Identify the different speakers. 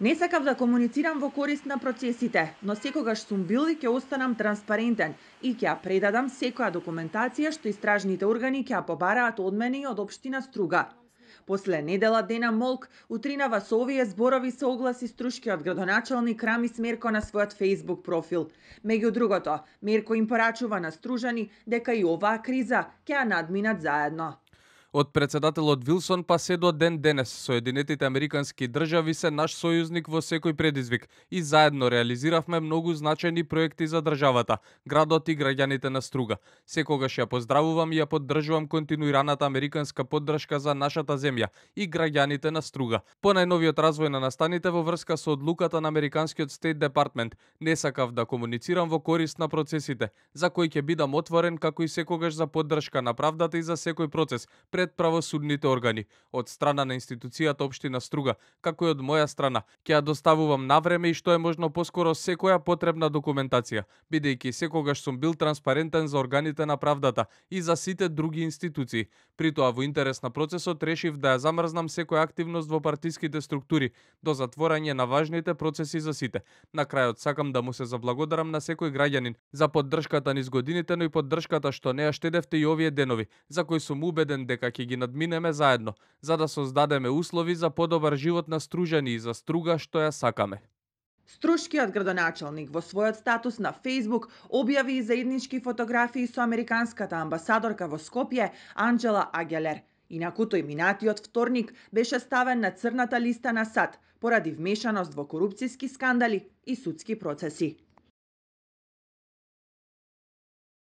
Speaker 1: Не сакав да комуницирам во корист на процесите, но секогаш сум бил и ќе останам транспарентен и ќе ја предадам секоја документација што истражните органи ќе ја побараат од мене и од општина Струга. После недела дена молк, утринава со овие зборови се огласи струшкиот градоначалник Рамис Мерко на својот Facebook профил. Меѓу другото, Мерко им порачува на стружани дека и оваа криза ќе ја надминат заедно.
Speaker 2: Од председателот Вилсон па се до ден денес, Соединетите Американски држави се наш сојузник во секој предизвик и заедно реализиравме многу значајни проекти за државата, градот и граѓаните на Струга. Секогаш ја поздравувам и ја поддржувам континуираната американска поддршка за нашата земја и граѓаните на Струга. По најновиот развој на настаните во врска со одлуката на Американскиот Стейт Департмент, не сакав да комуницирам во корист на процесите, за кои ќе бидам отворен како и секогаш за поддршка на правдата и за секој процес пред правосудните органи. Од страна на институцијата Општина Струга, како и од моја страна, ќе ја доставувам навреме и што е можно поскоро секоја потребна документација, бидејќи секогаш сум бил транспарентен за органите на правдата и за сите други институции. При тоа во интерес на процесот решив да ја замрзнам секоја активност во партиските структури до затворање на важните процеси за сите. На крајот сакам да му се заблагодарам на секој граѓанин за поддршката низ годините, но и поддршката што не ја штедевте и овие денови, за кои сум убеден дека ќе ги надминеме заедно, за да создадеме услови за подобар живот на стружани и за Струга што ја сакаме.
Speaker 1: Струшкиот градоначалник во својот статус на Facebook објави и заеднички фотографии со американската амбасадорка во Скопје Анџела Агелер. Инаку тој минатиот вторник беше ставен на црната листа на САД поради вмешаност во корупцијски скандали и судски процеси.